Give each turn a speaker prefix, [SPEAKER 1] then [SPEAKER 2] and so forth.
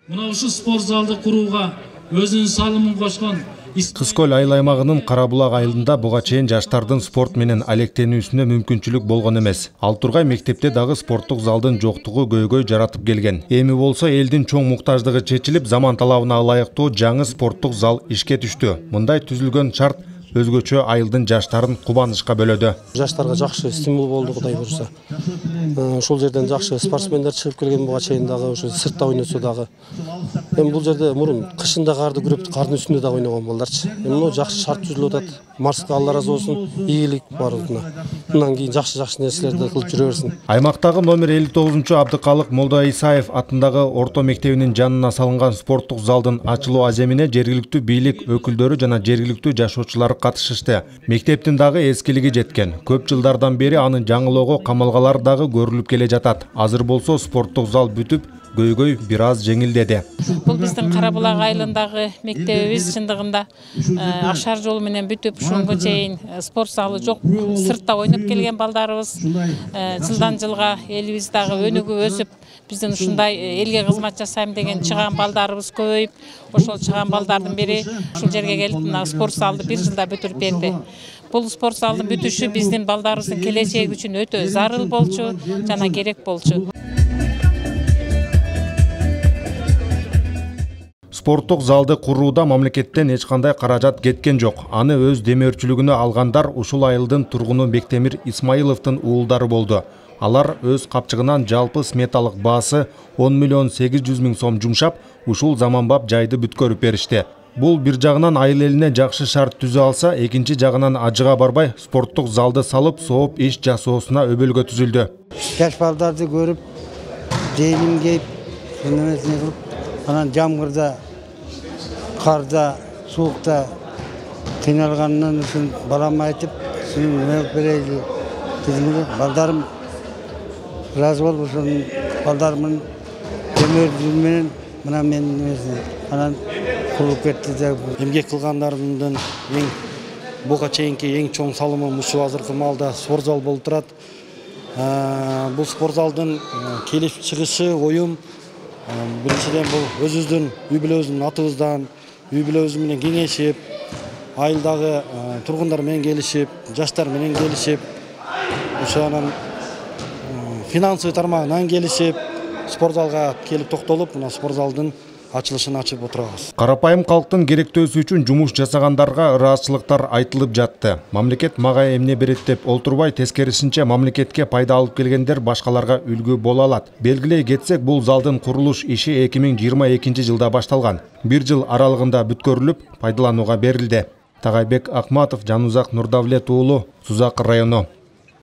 [SPEAKER 1] Мына ушул спорт залды курууга өзүнүн салымын кошкон
[SPEAKER 2] Кыз көл айыл аймагынын Кара Булак айылында буга чейин жаштардын спорт менен алектенүүсүнө мүмкүнчүлүк болгон эмес. Ал тургай мектепте дагы спорттук залдын жоктугу көйгөй жаратып келген. Эми болсо элдин чоң муктаждыгы чечилип, заман талабына ылайыктуу жаңы спорттук зал ишке түштү. Мындай түзүлгөн шарт өзгөчө айылдын жаштарын кубанычка бөлөдү.
[SPEAKER 3] Жаштарга жакшы стимул болду, Кудай буюрса. Ошол жерден жакшы спортсмендер чыгып келген буга чейин дагы, ошо сыртта ойносо дагы. Эми бул жерде мурун кышында карды күрөп, кардын үстүндө дагы ойногон балдарчы. Эми мына жакшы шарт түзүлүп атат. Марска Алла ыраазы болсун, ийгилик барлыгына. Мындан кийин жакшы нерселерди кылып жүрө берсин.
[SPEAKER 2] Аймактагы номер 59 Абдыкалык Молдо Исаев атындагы орто мектебинин жанына салынган спорттук залдын ачылуу аземине жергиликтүү бийлик өкүлдөрү жана жергиликтүү жашоочулар катышышты. Мектептин дагы эскилиги жеткен. Көп жылдардан бери анын жаңылоого камалгалар дагы көрүлүп келе жатат. Азыр болсо спорттук зал бүтүп, көйгөй бир аз жеңилдеди.
[SPEAKER 4] Бул биздин Кара Булак айылындагы мектебибиз чындыгында ашар жол менен бүтүп, ушунга чейин спорт залы жок, сыртта ойноп келген балдарыбыз жылдан жылга элибиз дагы өнүгүп өсүп, биздин ушундай элге кызмат жасайм деген чыган балдарыбыз көбөйүп, ошол чыган балдардын бири ушул жерге келип, мына спорт залды бир жылда бүтүрүп берди. Бул спорт залдын бүтүшү биздин балдарыбыздын келечеги үчүн өтө зарыл болчу жана керек болчу.
[SPEAKER 2] Спорттук залды курууда мамлекеттен эч кандай каражат кеткен жок. Аны өз демөөрчүлүгүнө алгандар ушул айылдын тургуну Бектемир Исмаиловдун уулдары болду. Алар өз капчыгынан жалпы сметалык баасы 10 миллион 800 миң сом жумшап, ушул заманбап жайды бүткөрүп беришти. Бул бир жагынан айыл элине жакшы шарт түзө алса, экинчи жагынан ажыга барбай спорттук залды салып, сооп иш жасоосуна өбөлгө түзүлдү.
[SPEAKER 5] Жаш балдарды көрүп, жейним кейип, анан жамгырда, карда, суукта кыйналганынан үчүн балам айтып, сүйүнүп берели дедимги, балдарым ыраазы болуп, ошол балдарымдын демөөрчүлүгү менен мына мен анан курулуп кетти.
[SPEAKER 3] Эмгек кылгандарымдын буга чейинки эң чоң салымым ушул азыркы маалда спорт зал болуп турат. Бул спорт залдын келип чыгышы оюм биринчиден бул өзүбүздүн үй бүлөбүздүн атыбыздан, үй бүлөбүз менен кеңешип, айылдагы тургундар менен келишип, жаштар менен келишип, ошо анан финансовый тармагынан келишип, спорт залга келип токтолуп, мына спорт залдын ачылышын ачып отурабыз.
[SPEAKER 2] Карапайым калктын керектөөсү үчүн жумуш жасагандарга ыраазычылыктар айтылып жатты. Мамлекет мага эмне берет деп олтурбай, тескерисинче мамлекетке пайда алып келгендер башкаларга үлгү боло алат. Белгилей кетсек, бул залдын курулуш иши 2022 жылда башталган. Бир жыл аралыгында бүткөрүлүп, пайдаланууга берилди. Тагайбек Акматов, Жанузак Нурдавлет уулу, Сузак району.